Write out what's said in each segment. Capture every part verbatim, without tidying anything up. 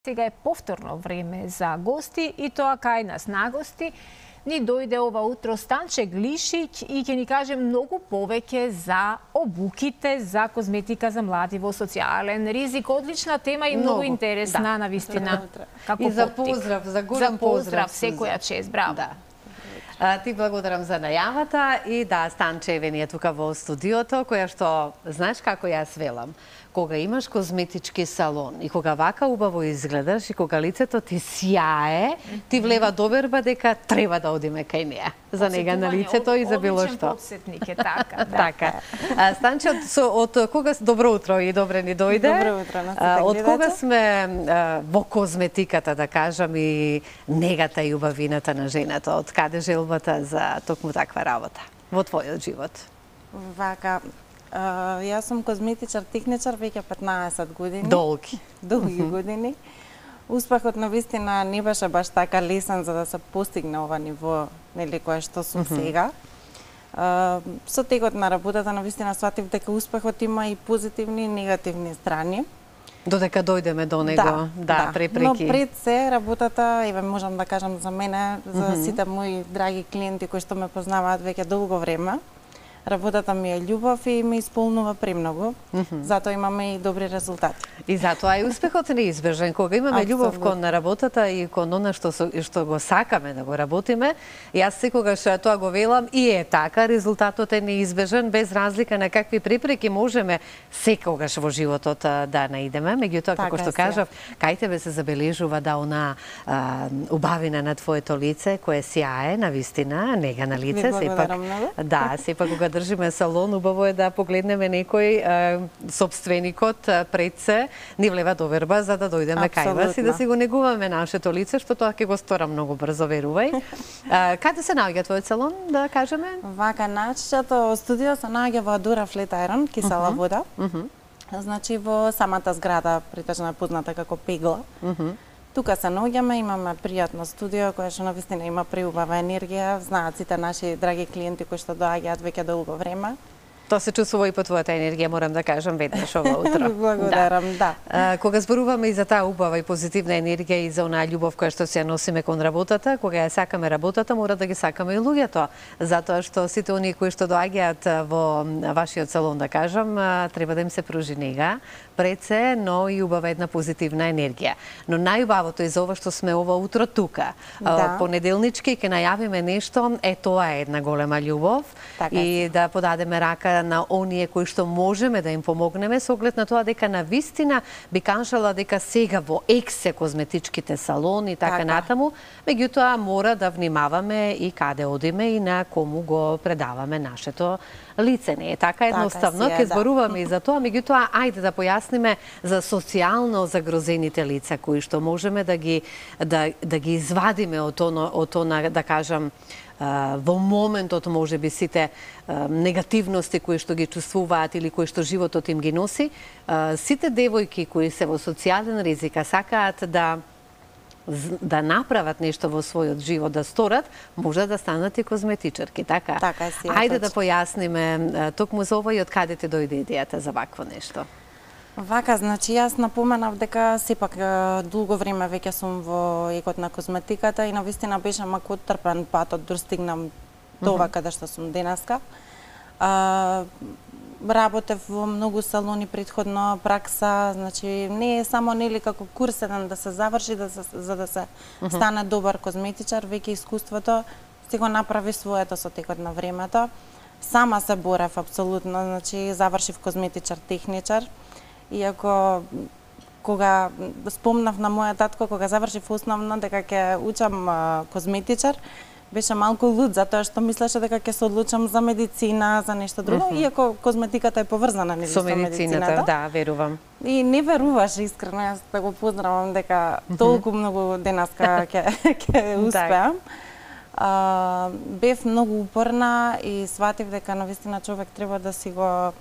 Сега е повторно време за гости и тоа кај нас на гости. Ни дојде ова утро Станче Глишиќ и ќе ни каже многу повеќе за обуките, за козметика за млади во социјален ризик. Одлична тема и многу, многу интересна, да, навистина. Како и за поздрав, за голем за поздрав, секоја чест, браво. Да. А, ти благодарам за најавата и да, Станче Еве е тука во студиото, која што, знаеш како јас велам, кога имаш козметички салон и кога вака убаво изгледаш и кога лицето ти сјае, ти влева доверба дека треба да одиме кај неа. За нега на лицето и за било што. Подсетник е така, да. Така. А, Станче, од, од кога добро утро и добре ни дојде. Добро утро на сите гледачи. Од кога сме а, во козметиката, да кажам, и негата и убавината на жената, од каде желбата за токму таква работа во твојот живот? Вака, Uh, јас сум козметичар, техничар веќе петнаесет години. Долги. Долги mm -hmm. години. Успехот навистина не беше баш така лесен за да се постигне ова ниво, нели, кое што сум mm -hmm. сега. Uh, со текот на работата навистина сватив дека успехот има и позитивни и негативни страни. Додека дојдеме до него, да, да, да. препреки. Но пред се работата, еве можам да кажам за мене, за mm -hmm. сите мои драги клиенти кои што ме познаваат веќе долго време, работата ми е љубов и ме исполнува премногу, mm -hmm. затоа имаме и добри резултати. И затоа и успехот не е неизбежен. Кога имаме љубов кон работата и кон она што, што го сакаме да го работиме, јас секогаш тоа го велам и е така, резултатот е неизбежен, без разлика на какви препреки можеме секогаш во животот да наидеме. Меѓутоа, како што кажав, кај тебе се забележува да она а, убавина на твоето лице, кое сјае, навистина, нега на лице, сепак, да, сепак кога држиме салон, убаво е да погледнеме некој а, собственикот а, пред се, ни влева доверба за да дојдеме кај вас и да си го негуваме нашето лице, што тоа ќе го стора многу брзо, верувај. А, каде се наоѓа твојот салон, да кажеме? Вака, нашето студио се наоѓа во Адура Флет Айрон, кисела uh -huh. вода. Uh -huh. Значи во самата зграда, притежно е позната како Пегла. Uh -huh. Тука се наоѓаме, имаме пријатно студио кое што навистина има преубава енергија, знаат сите наши драги клиенти кои што доаѓаат веќе долго време. Тоа се чувствува и по твојата енергија, морам да кажам, веднаш ова утро. Благодарам, да. да. А, кога зборуваме и за таа убава и позитивна енергија и за онаа љубов која што се носиме кон работата, кога ја сакаме работата, мора да ги сакаме и луѓето. Затоа што сите оние кои што доаѓаат во вашиот салон, да кажам, треба да им се пружи нега, пред се, но и убава една позитивна енергија. Но најубавото е за ова што сме ова утро тука. Да. Понеделнички ќе најавиме нешто, е тоа е една голема љубов така и да подадеме рака на оние кои што можеме да им помогнеме, со оглед на тоа дека на вистина би кажала дека сега во ексе козметичките салони и така, така натаму, меѓутоа мора да внимаваме и каде одиме и на кому го предаваме нашето лице. Не е така едноставно, ќе зборуваме да. и за тоа, меѓутоа ајде да појасниме за социјално загрозените лица кои што можеме да ги да да ги извадиме од оно од она, да кажам, во моментот можеби сите негативности кои што ги чувствуваат или кои што животот им ги носи, сите девојки кои се во социјален ризик сакаат да да направат нешто во својот живот, да сторат, може да станат и козметичарки, така? Така е, си е. Ајде да појасниме токму за ова и од каде те дојде идејата за вакво нешто. Вака, значи јас напоменав дека сепак долго време веќе сум во екот на козметиката и навистина беше малку трпен патот да стигнам до ова каде што сум денеска. А, работев во многу салони предходно, пракса, значи не е само нели како курс еден да се заврши да се, за да се стане добар козметичар, веќе искуството си го направи своето со текот на времето. Сама се борев апсолутно, значи завршив козметичар, техничар. Иако кога спомнав на моја татко кога завршив основно дека ќе учам а, козметичар, беше малку луд затоа што мислеше дека ќе се одлучам за медицина, за нешто друго, mm -hmm. иако козметиката е поврзана нели со медицината. Да, верувам. И не веруваше искрено, јас да го поздравам дека толку многу денеска ќе ќе успеам. А, бев многу упорна и сватив дека навистина човек треба да си го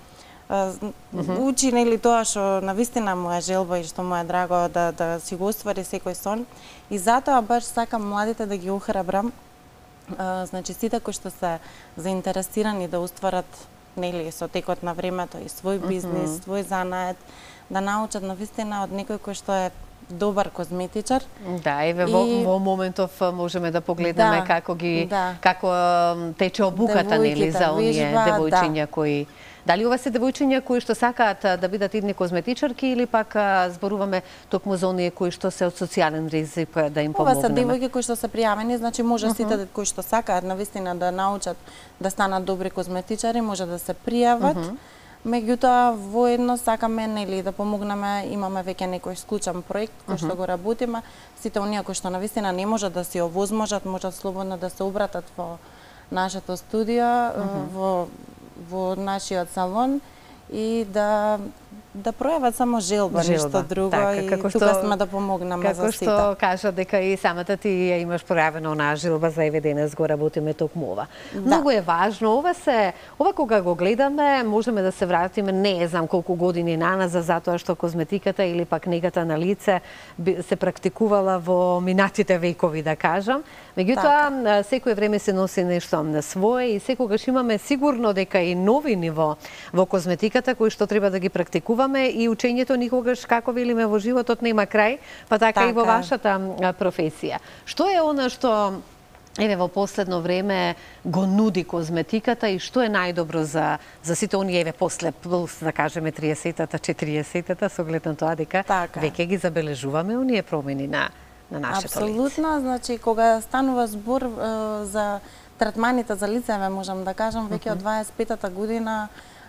Uh, uh-huh. учи нели тоа што навистина му е желба и што му е драго да да си го оствари секој сон. И затоа баш сакам младите да ги охрабрам. Uh, значи сите кои што се заинтересирани да остварат нели со текот на времето и свој бизнис, uh-huh. свој занает, да научат навистина од некој кој што е добар козметичар. Да, еве во, И- во моментов можеме да погледнеме Да, како ги да. како м, тече обуката нели Девојките за оние вежба, девојчиња кои Дали ова се девојчиња кои што сакаат а, да бидат идни козметичарки или пак а, зборуваме токму за оние кои што се од социјален ризик а, да им Ова се помогнеме? девојки кои што се пријавени, значи може сите кои што сакаат навистина да научат да станат добри козметичари, може да се пријават. Меѓутоа, воедно сакаме нели да помогнеме, имаме веќе некој склучен проект кој што го работиме. Сите оние кои што навистина не можат да се овозможат, можат слободно да се обратат во нашето студио, во во нашиот салон и да да пројават само желба, Желба, ништо друго така, и како тука што- сме да помогнеме за Како сите. што кажа дека и самата ти ја имаш пројавена онаа жилба за еве денес го работиме токму ова. Да. Многу е важно, ова се, ова кога го гледаме, можеме да се вратиме не знам колку години наназад затоа што козметиката или пак негата на лице би- се практикувала во минатите векови, да кажам. Меѓутоа, Така. секое време се носи нешто на свое и секогаш имаме сигурно дека и нови ниво во козметиката кои што треба да ги практикуваме и учењето никогаш, како велиме, во животот нема крај, па така, и во Така е. вашата а, професија. Што е она што еве во последно време го нуди козметиката и што е најдобро за за сите оние еве после плюс да кажеме триесетата, четириесетата со оглед на тоа дека Така е. веќе ги забележуваме оние промени на на нашето лице. Апсолутно, значи кога станува збор е, за третманите за лицеве, можам да кажам, веќе од дваесет и петата година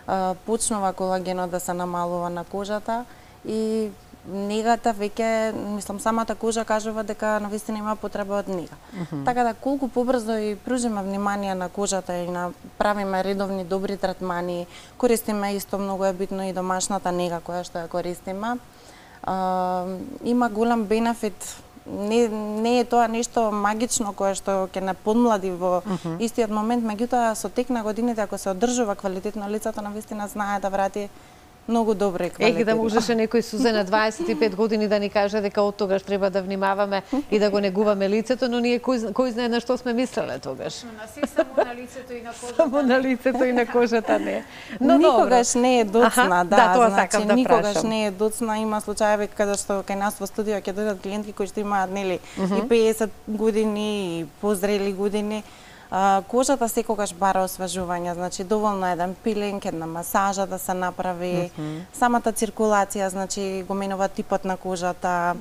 е, почнува колагенот да се намалува на кожата и негата веќе, мислам, самата кожа кажува дека навистина има потреба од нега. Така да колку побрзо и пружиме внимание на кожата и на правиме редовни добри третмани, користиме исто многу е битно и домашната нега која што ја користиме. А, има голем бенефит. Не, не е тоа нешто магично кое што ќе не подмлади во истиот момент, меѓутоа со тек на годините ако се одржува квалитетно лицето, навистина знае да врати многу добро и квалитетно. Ех, да можеше некој Сузе на дваесет и пет години да ни каже дека од тогаш треба да внимаваме и да го негуваме лицето, но ние кој, кој знае на што сме мислеле тогаш. Но на се само на лицето и на кожата. Само на лицето и на кожата не. Но никогаш добро. не е доцна, Аха, да, да, тоа значи сакам да никогаш прашам. не е доцна, има случаеви каде што кај нас во студио ќе дојдат клиентки кои што имаат нели и педесет години и позрели години. А, кожата секогаш бара освежување, значи доволно е еден пилинг, една масажа да се направи, самата циркулација, значи го менува типот на кожата,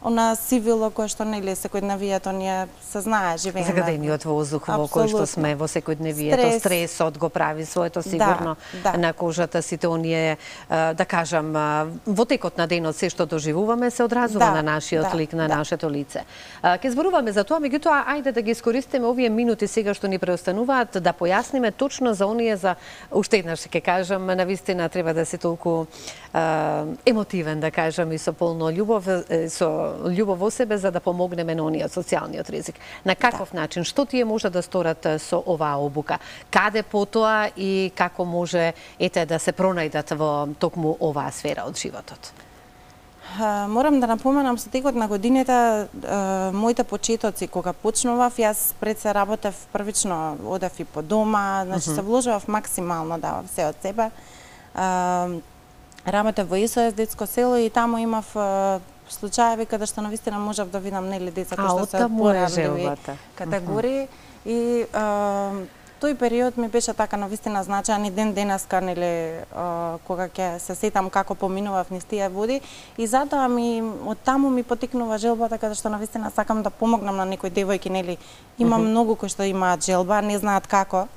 она сивило кое што нели секојдневието ние се знае, живееме. Загадениот воздух во кој што сме во секојдневието, Стрес. стресот го прави своето сигурно да. на кожата, сите оние, а, да кажам, а, во текот на денот се што доживуваме се одразува Да, на нашиот да, лик, на да. нашето лице. А, Ке зборуваме за тоа, меѓутоа, ајде да ги искористиме овие минути сега што ни преостануваат, да појасниме точно за оние, за уште еднаш ќе кажам, навистина треба да се толку а, емотивен, да кажам, и со полно љубов, е, со љубов во себе, за да помогнеме на ониот социјалниот ризик. На каков Да. начин, што тие може да сторат е, со оваа обука? Каде потоа и како може ете да се пронајдат во токму оваа сфера од животот? А, Морам да напоменам со текот на годините а, моите почетоци кога почнував, јас пред се работев првично, одев и по дома, значи се вложував максимално, давав се од себе. А, Работев во ес о ес детско село и таму имав а, случаеви каде што навистина можев да видам нели деца кои А, што од се таму е поранливи желбата. категории и а, тој период ми беше така навистина значаен и ден денеска нели а, кога ќе се сетам како поминував низ тие води и затоа ми од таму ми потикнува желбата каде што навистина сакам да помогнам на некои девојки нели има многу кои што имаат желба, не знаат како.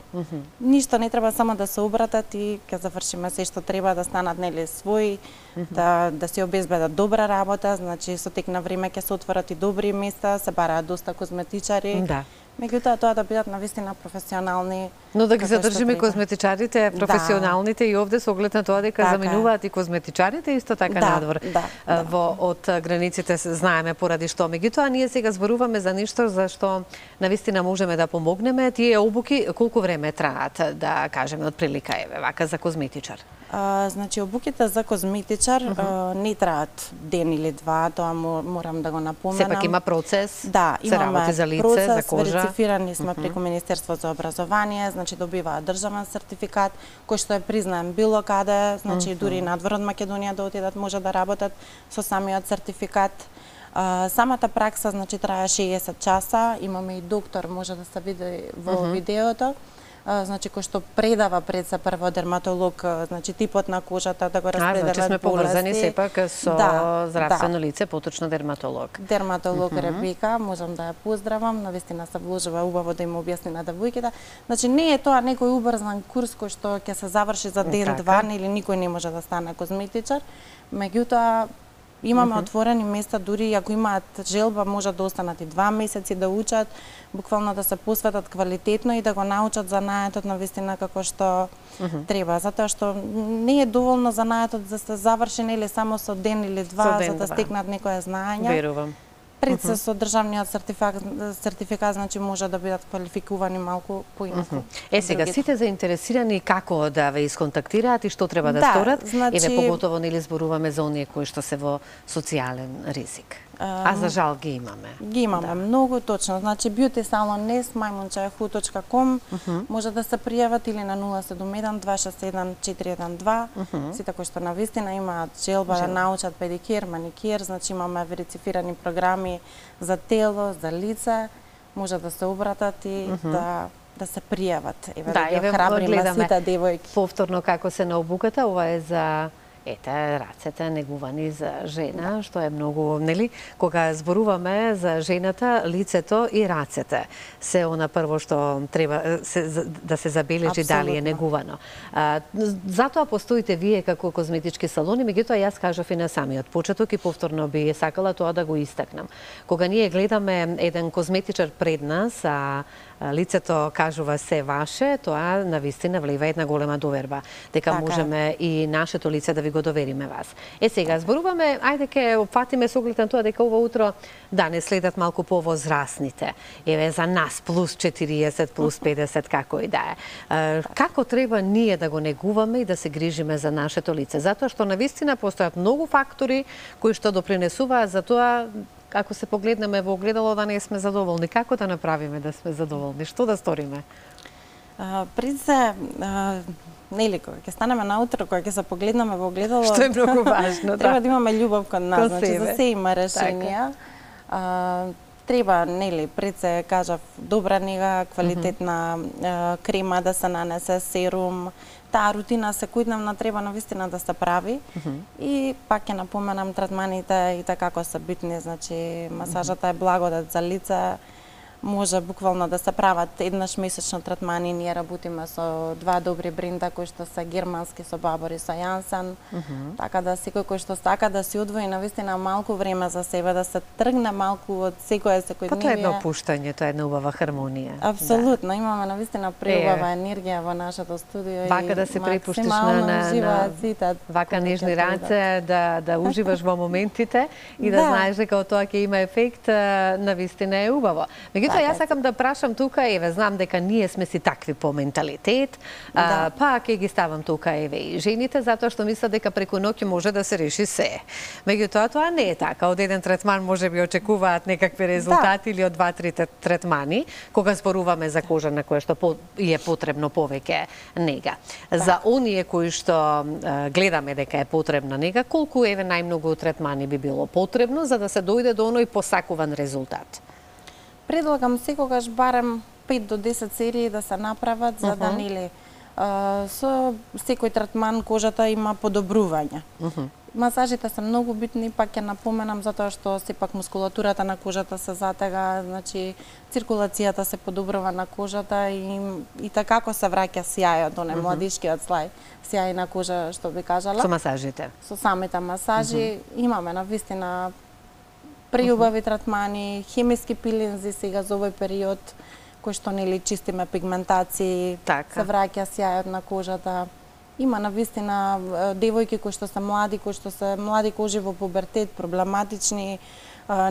Ништо не треба, само да се обратат и ќе завршиме се што треба да станат нели своји, да да си обезбедат добра работа, значи со тек на време ќе се отворат и добри места, се бараат доста козметичари. Да. Меѓутоа тоа да бидат навистина професионални. Но да ги како што задржиме треба. козметичарите, професионалните и овде со оглед на тоа дека Така е. заминуваат и козметичарите исто така Да, надвор да, а, да. во од границите се знаеме поради што. Меѓутоа ние сега зборуваме за нешто за што навистина можеме да помогнеме. Тие обуки колку време траат, да кажеме од прилика еве вака за козметичар? А, значи обуките за козметичар uh -huh. а, не траат ден или два, тоа мо- морам да го напоменам. Сепак има процес, Да, се имаме работи за лице, процес, за кожа. верифицирани сме преку Министерство за образование, значи добиваат државен сертификат кој што е признаен било каде, значи дури и надвор од Македонија да отидат може да работат со самиот сертификат. А, самата пракса значи трае шеесет часа, имаме и доктор, може да се види во uh-huh. видеото. А, значи кој што предава пред се прво дерматолог, значи типот на кожата да го распределат болести. А, значи сме поврзани сепак со да, здравствено да. лице, поточно дерматолог. Дерматолог uh-huh. Ребека, можам да ја поздравам, навистина се вложува убаво да им објасни на девојките. Значи не е тоа некој убрзан курс кој што ќе се заврши за ден-два, или никој не може да стане козметичар. Меѓутоа имаме uh-huh. отворени места, дури ако имаат желба, може да останат и два месеци да учат, буквално да се посветат квалитетно и да го научат занаетот на вистина како што uh-huh. треба, затоа што не е доволно занаетот да се заврши или само со ден или два ден, за да два. стекнат некоја знаење. Верувам. Пред се со државниот сертификат, сертификат значи може да бидат квалификувани малку поинаку. Uh -huh. Е сега сите заинтересирани како да ве исконтактираат и што треба да, да сторат, значи... еве поготово нели зборуваме за оние кои што се во социјален ризик. А за жал ги имаме. Ги имаме да. Многу точно. Значи beauty salon nes maimundchayhu точка com uh -huh. може да се пријават или на нула седум еден два шест еден четири еден два. Uh -huh. Сите кои што навистина имаат желба Жел. да научат педикир, маникир, значи имаме верифицирани програми за тело, за лице, може да се обратат и uh -huh. да да се пријават. Еве да, да ги охрабриме сите девојки. Повторно како се на обуката, ова е за ете, рацете негувани за жена, што е многу, нели, кога зборуваме за жената, лицето и рацете се она прво што треба се, да се забележи дали е негувано. А, затоа постоите вие како козметички салони, меѓутоа јас кажав и на самиот почеток и повторно би сакала тоа да го истакнам. Кога ние гледаме еден козметичар пред нас, а лицето кажува се ваше, тоа навистина влива една голема доверба, дека така можеме и нашето лице да ви го довериме вас. Е сега зборуваме, ајде ке опфатиме со оглед на тоа дека ова утро да не следат малку повозрасните. Еве за нас плюс четириесет, плюс педесет, како и да е. Како треба ние да го негуваме и да се грижиме за нашето лице? Затоа што навистина постојат многу фактори кои што допринесуваат за тоа. Ако се погледнеме во огледало да не сме задоволни, како да направиме да сме задоволни? Што да сториме? А, пред се, а, нели, кога ќе станеме наутро, кога ќе се погледнеме во огледало, што е многу важно, треба да. да имаме љубов кон нас, Кон значи себе. за се има решенија. А, треба, нели, пред се кажав, добра нега, квалитетна mm -hmm. а, крема да се нанесе, серум, таа рутина секојдневна треба навистина да се прави. Mm -hmm. И пак ќе напоменам третманите и така како се битни, значи масажата е благодат за лице. Може буквално да се прават еднаш месечно третмани, ние работиме со два добри бренда кои што се германски со Бабор и со Јансен. Mm -hmm. Така да секој кој што сака да си одвои навистина малку време за себе, да се тргне малку од секоја секојдневие. Па тоа е едно опуштање, тоа е една убава хармонија. Апсолутно, да. Имаме навистина преубава енергија во нашето студио. Вака да се препуштиш на, на, на сите, вака нежни раце, да, да уживаш во моментите и да, да знаеш дека тоа ќе има ефект, навистина е убаво. Меѓутоа, јас сакам да прашам тука, еве, знам дека ние сме си такви по менталитет, да. а, па ќе ги ставам тука, еве, и жените, затоа што мислат дека преку ноќ може да се реши се. Меѓутоа, тоа не е така. Од еден третман може би очекуваат некакви резултати да. Или од два-три третмани, кога зборуваме за кожа на која што по, е потребно повеќе нега. Да. За оние кои што а, гледаме дека е потребна нега, колку, еве, најмногу третмани би било потребно за да се дојде до оној посакуван резултат? Предлагам секогаш барем пет до десет серии да се направат, за uh -huh. да нели со секој третман кожата има подобрување. Uh -huh. Масажите се многу битни, пак ќе напоменам, затоа што сепак мускулатурата на кожата се затега, значи циркулацијата се подобрува на кожата и, и така како се враќа сјајот, оне uh -huh. младишкиот слај, сјај на кожа, што би кажала. Со масажите. Со самите масажи uh -huh. имаме навистина преубави третмани, хемиски пилинзи сега за овој период, кој што нели чистиме пигментации, така. Се враќа сјајот на кожата. Има навистина девојки кои што се млади, кои што се млади кожи во пубертет, проблематични,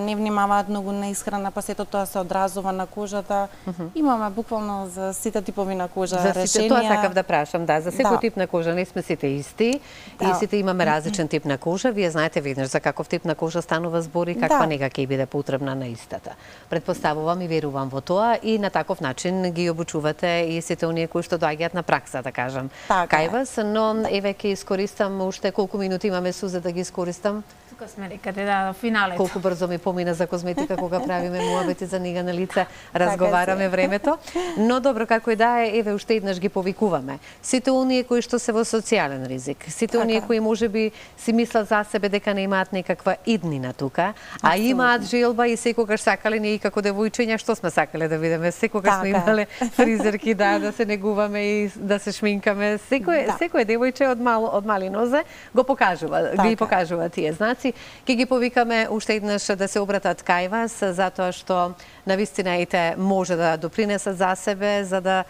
не внимаваат многу на исхрана, па сето тоа се одразува на кожата. Uh -huh. Имаме буквално за сите типови на кожа за решенија. Тоа сакав да прашам, да, за секој да. Тип на кожа не сме сите исти да. И сите имаме различен тип на кожа. Вие знаете веднаш за каков тип на кожа станува збор и каква да. Нега ќе биде потребна на истата. Предпоставувам и верувам во тоа и на таков начин ги обучувате и сите оние кои што доаѓаат на пракса, да кажам. Така. Кај вас, но еве ќе искористам уште колку минути имаме, Сузе, да ги искористам? Тука сме некаде да финалето. Колку брзо ми помина за козметика кога правиме муабети за нига на лице, разговараме времето. Но добро, како и да е, еве уште еднаш ги повикуваме. Сите оние кои што се во социјален ризик, сите оние кои можеби си мислат за себе дека не имаат некаква иднина тука, а имаат желба и секогаш сакале, ние и како девојчиња што сме сакале да видиме, секогаш сме имале фризерки, да, да се негуваме и да се шминкаме. Секој секој девојче од мал од мали нозе го покажува, ги покажува тие знаци. Ќе ги повикаме уште еднаш да се обратат кај вас, затоа што навистина ете може да допринесат за себе, за да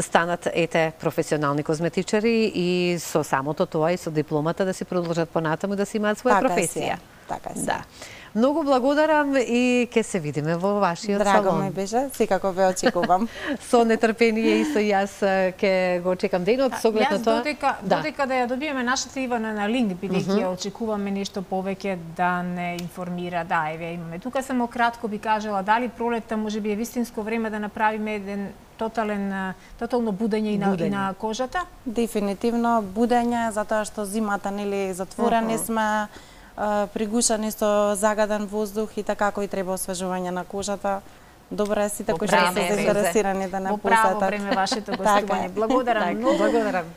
станат ете професионални козметичари и со самото тоа и со дипломата да си продолжат понатаму да си имаат своја професија. Така е. Да. Многу благодарам и ќе се видиме во вашиот салон. Драго ми беше, секако ве очекувам. Со нетрпение и со јас ќе го чекам денот, со оглед на тоа. Јас додека, додека да ја добиеме нашата Ивана на линк, бидејќи ја очекуваме нешто повеќе да не информира, да, еве имаме. Тука само кратко би кажала дали пролетта можеби е вистинско време да направиме еден тотален тотално будење и на, и на кожата? Дефинитивно будење, затоа што зимата нели затворени uh -huh. сме, пригушани со загаден воздух и така кој треба освежување на кожата. Добро е сите кои што се заинтересирани да не посетат. Во право време вашето гостување. Благодарам многу. Благодарам.